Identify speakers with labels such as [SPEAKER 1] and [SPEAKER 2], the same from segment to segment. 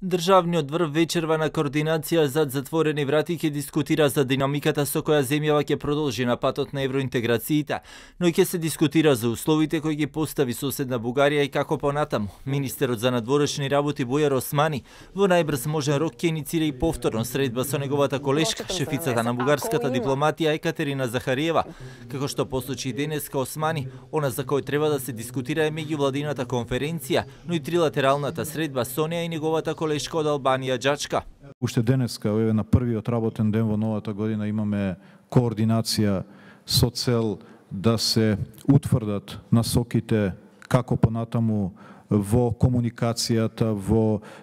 [SPEAKER 1] Државниот врв вечерва на координација зад затворени врати ќе дискутира за динамиката со која земјава ќе продолжи на патот на евроинтеграциите, но и ќе се дискутира за условите кои ги постави соседна Бугарија и како понатаму. Министерот за надворешни работи Бујар Османи во најбрз можен рок ќе иницира и повторно средба со неговата колешка, шефицата на бугарската дипломатија Екатерина Захариева. Како што посочи денеска Османи, она за кој треба да се дискутира е меѓувладината конференција, но и трилатералната средба со неа и неговата колешка од Албанија Џачка.
[SPEAKER 2] Уште денеска, на првиот работен ден во новата година, имаме координација со цел да се утврдат насоките како понатаму во комуникацијата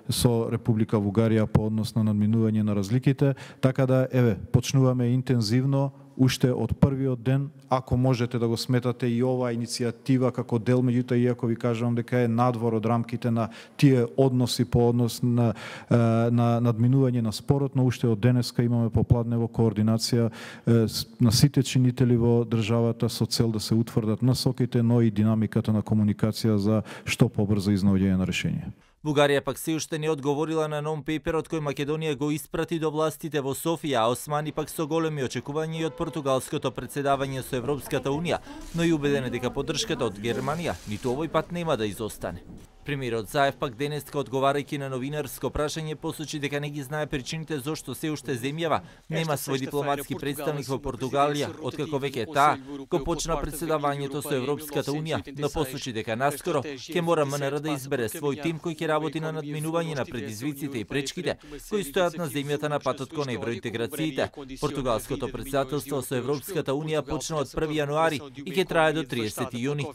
[SPEAKER 2] со Република Бугарија по однос на надминување на разликите, така да почнуваме интензивно уште од првиот ден, ако можете да го сметате и оваа иницијатива како дел, меѓутоа иако ви кажувам дека е надвор од рамките на тие односи по однос на надминување на спорот, но уште од денеска имаме попладнево координација на сите чинители во државата со цел да се утврдат насоките, но и динамиката на комуникација за што побрзо изнаоѓање на решение.
[SPEAKER 1] Бугарија пак се уште не одговорила на нон-пейперот кој Македонија го испрати до властите во Софија, а Османи пак со големи очекувања и од португалското председавање со Европската Унија, но и убеден е дека поддршката од Германија ниту овој пат нема да изостане. Премиерот Заев пак денеска одговарајќи на новинарско прашање посочи дека не ги знае причините зошто се уште земјава нема свој дипломатски представник во Португалија, откако веќе таа го почна председавањето со Европската Унија, но посочи дека наскоро ќе мора МНР да избере свој тим кој ќе работи на надминување на предизвиците и пречките кои стојат на земјата на патот кон евроинтеграциите. Португалското председателство со Европската Унија почна од 1 јануари и ќе трае до 30 јуни.